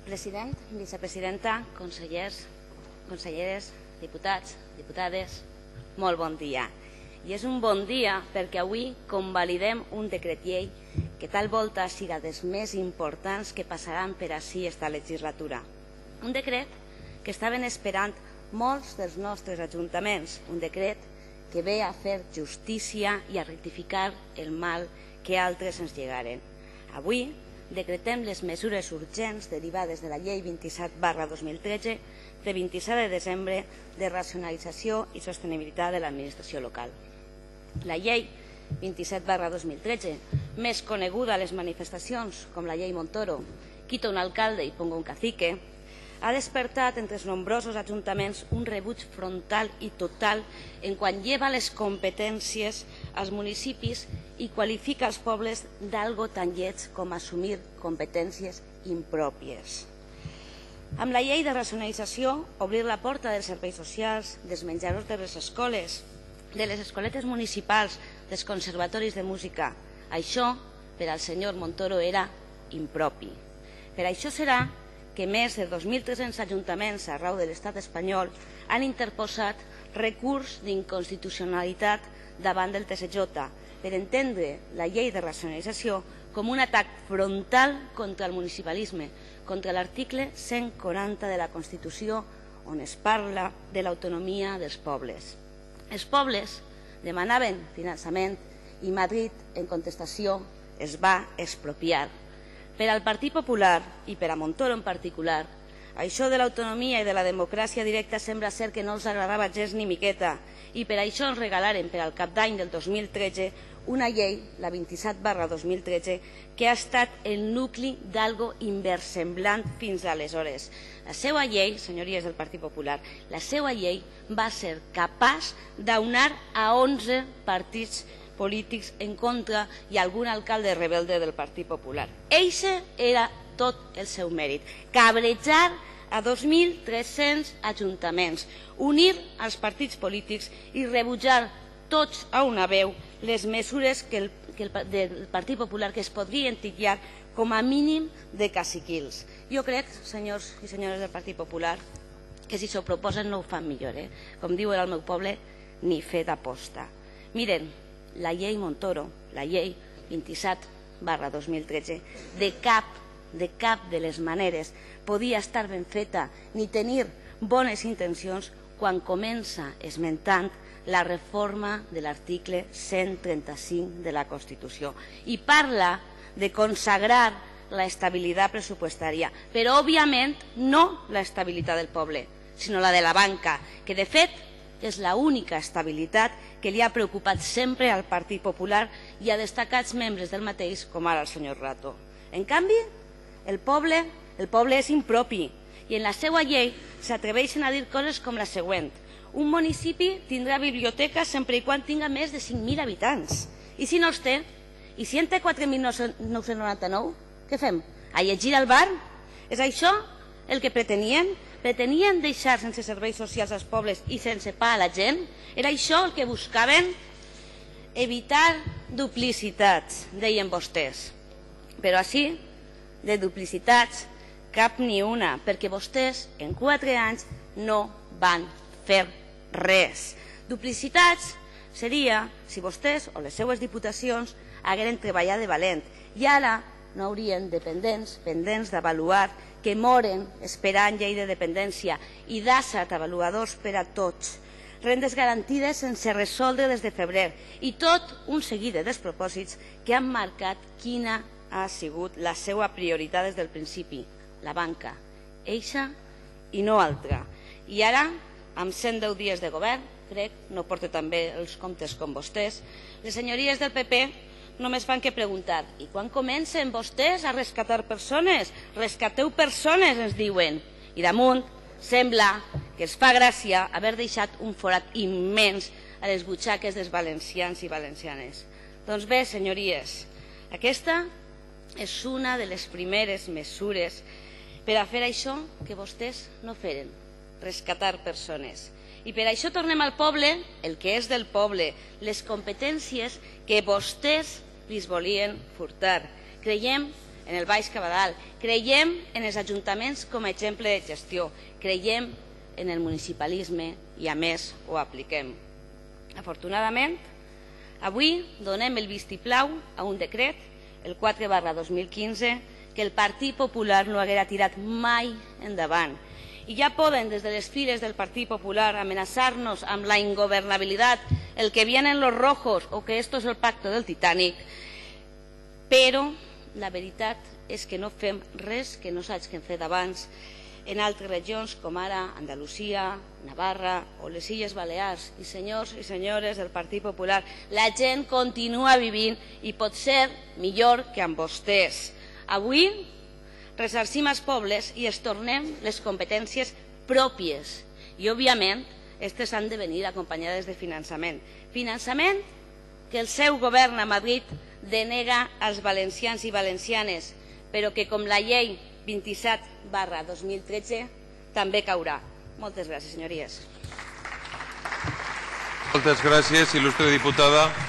President, vicepresidenta, consellers, conselleres, diputats, diputades, molt bon dia. I és un bon dia perquè avui convalidem un decret llei que tal volta siga dels més importants que passaran per ací esta legislatura. Un decret que estaven esperant molts dels nostres ajuntaments, un decret que ve a fer justícia i a rectificar el mal que altres ens llegaren. Avui decretem les mesures urgents derivades de la Llei 27/2013 de 27 de desembre de racionalització i sostenibilitat de l'administració local. La Llei 27/2013, més coneguda a les manifestacions com la Llei Montoro, quita un alcalde i ponga un cacique, ha despertat entre els nombrosos ajuntaments un rebuig frontal i total en quan lleva les competències als municipis i qualifica els pobles d'algo tan lleig com assumir competències impròpies. Amb la llei de racionalització, obrir la porta dels serveis socials, dels menjadors de les escoles, de les escoletes municipals, dels conservatoris de música, això per al senyor Montoro era impropi. Per això serà que més de 2.300 ajuntaments arreu de l'estat espanyol han interposat recurs d'inconstitucionalitat davant del TSJ per entendre la llei de racionalització com un atac frontal contra el municipalisme, contra l'article 140 de la Constitució on es parla de l'autonomia dels pobles. Els pobles demanaven finançament i Madrid, en contestació, es va expropiar. Per al Partit Popular i per a Montoro en particular, això de l'autonomia i de la democràcia directa sembla ser que no els agradava gens ni miqueta i per això ens regalaren per al cap d'any del 2013 una llei, la 27/2013, que ha estat el nucli d'algo inversemblant fins aleshores. La seva llei, senyories del Partit Popular, la seva llei va ser capaç d'aunar a 11 partits polítics en contra i algun alcalde rebelde del Partit Popular. Eixe era tot el seu mèrit, cabrejar a 2.300 ajuntaments, unir els partits polítics i rebutjar tots a una veu les mesures del Partit Popular que es podrien titllar com a mínim de caciquils. Jo crec, senyors i senyores del Partit Popular, que si s'ho proposen no ho fan millor. Com diuen al meu poble, ni fet aposta. Miren, la llei Montoro, la llei 27/2013, de cap de les maneres podia estar ben feta ni tenir bones intencions quan comença esmentant la reforma de l'article 135 de la Constitució i parla de consagrar la estabilitat pressupostària, però òbviament no la estabilitat del poble, sinó la de la banca, que de fet és l'única estabilitat que li ha preocupat sempre al Partit Popular i a destacats membres del mateix, com ara el senyor Rato. En canvi, el poble és impropi i en la seva llei s'atreveixen a dir coses com la següent: un municipi tindrà biblioteca sempre i quan tinga més de 5.000 habitants. I si no els té? I si en té 4.999? Què fem? A llegir al bar? És això el que pretenien? Pretenien deixar sense serveis socials als pobles i sense pa a la gent? Era això el que buscaven? Evitar duplicitats, deien vostès. Però així, de duplicitats, cap ni una, perquè vostès en 4 anys no van fer res. Duplicitats seria si vostès o les seues diputacions hagueren treballat de valent i ara no haurien pendents d'avaluar que moren esperant llei de dependència i d'ASAT avaluadors per a tots, rendes garantides sense resoldre des de febrer i tot un seguit de despropòsits que han marcat quina ha sigut la seva prioritat des del principi, la banca, eixa i no altra. I ara, amb 110 dies de govern, crec, no porta també els comptes com vostès, les senyories del PP només fan que preguntar: i quan comencen vostès a rescatar persones? Rescateu persones, ens diuen. I damunt sembla que els fa gràcia haver deixat un forat immens a les butxaques dels valencians i valencianes. Doncs bé, senyories, aquesta és una de les primeres mesures per a fer això que vostès no feren, rescatar persones. I per això tornem al poble, el que és del poble, les competències que vostès li volien furtar. Creiem en el Baix Cabadal. Creiem en els ajuntaments com a exemple de gestió. Creiem en el municipalisme i, a més, ho apliquem. Afortunadament, avui donem el vistiplau a un decret, el 4/2015, que el Partit Popular no haguera tirat mai endavant. I ja poden, des de les files del Partit Popular, amenaçar-nos amb la ingovernabilitat, el que vienen los rojos o que esto es el pacto del Titanic, però la veritat és que no fem res que no s'hagi fet abans en altres regions com ara Andalusia, Navarra o les Illes Balears. I senyors i senyores del Partit Popular, la gent continua vivint i pot ser millor que amb vostès. Avui ressarcim els pobles i els tornem les competències pròpies i, òbviament, aquestes han de venir acompanyades de finançament. Finançament que el seu govern a Madrid denega als valencians i valencianes, però que, com la llei 27/2013, també caurà. Moltes gràcies, senyories. Moltes gràcies, il·lustre diputada.